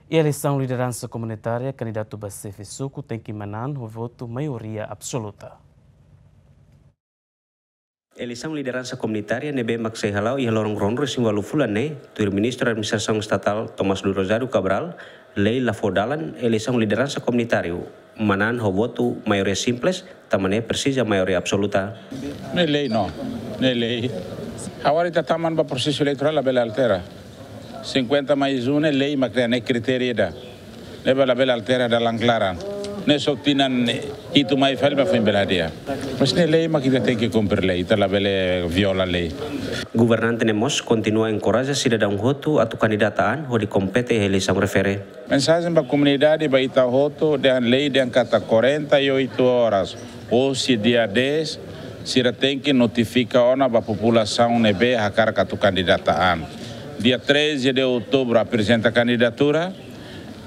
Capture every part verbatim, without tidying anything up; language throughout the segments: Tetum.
Iha eleisaun lideransa komunitária, kandidatu ba xefe suku tenke manán ho votu maioria absoluta. Eleisaun lideransa komunitária ne'ebé mak sei hala'o iha loron ruanulu-resin-ualu fulan ne'e, tuir Ministru Administrasaun Estatál Tomás Luiz Rosário Cabral, lei la fó dalan eleisaun lideransa komunitária manán ho votu maioria simples, tanba ne'e presiza maioria absoluta. Ne'e lei no, ne'e lei. Agora ita tama ba prosesu eleitorál, labele altera. Cinquenta mais um ne'e lei mak kria, ne'e kritéria ida. Ne'ebé labele altera dalan klaran. Ne'e só tinan hitu mai fali ba foin bele hadi'a. Mas ne'e lei mak ita tenke kumpre lei, ita labele viola lei. Governante ne'e mós kontinua enkoraja sidadaun hotu atu kandidata an hodi kompete iha eleisaun refere. Mensajen ba komunidade, ba ita hotu, dehan lei dehan katak quarenta e oito horas, hosi dia dez, sira tenke notifika ona ba populasaun ne'ebé hakarak atu kandidata an. Dia treze de outubro aprezenta kandidatura,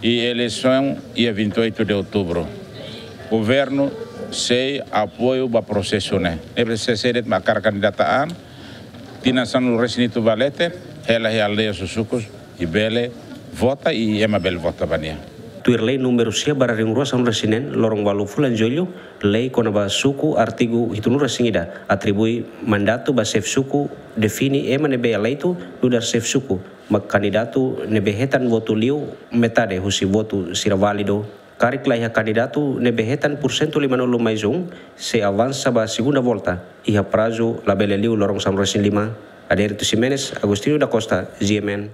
i eleisaun iha vinte e oito de outubro. Governu sei apoiu ba prosesu ne'e. Ne'ebé sé de'it mak hakarak kandidata an, tinan sanulu-resin-hitu ba leten, hela iha aldeia sira, sukus, i bele vota, i ema bele vota ba nia. Tuir lei númeru sia barra rihun rua sanulu-resin-neen, loron ualu fulan Jullu, lei kona-ba suku, artigu hitunulu-resin-ida, atribui mandatu ba xefe suku, define ema ne'ebé eleitu nu'udar xefe suku, mak kandidatu ne'ebé hetan votu liu metade husi votu sira válidu. Karik la iha kandidatu ne'ebé hetan porsentu limanulu mais um, sei avansa ba segunda volta, iha prazu labele liu loron sanulu-resin-lima. Adérito Ximenes, Agostinho da Costa, G M N.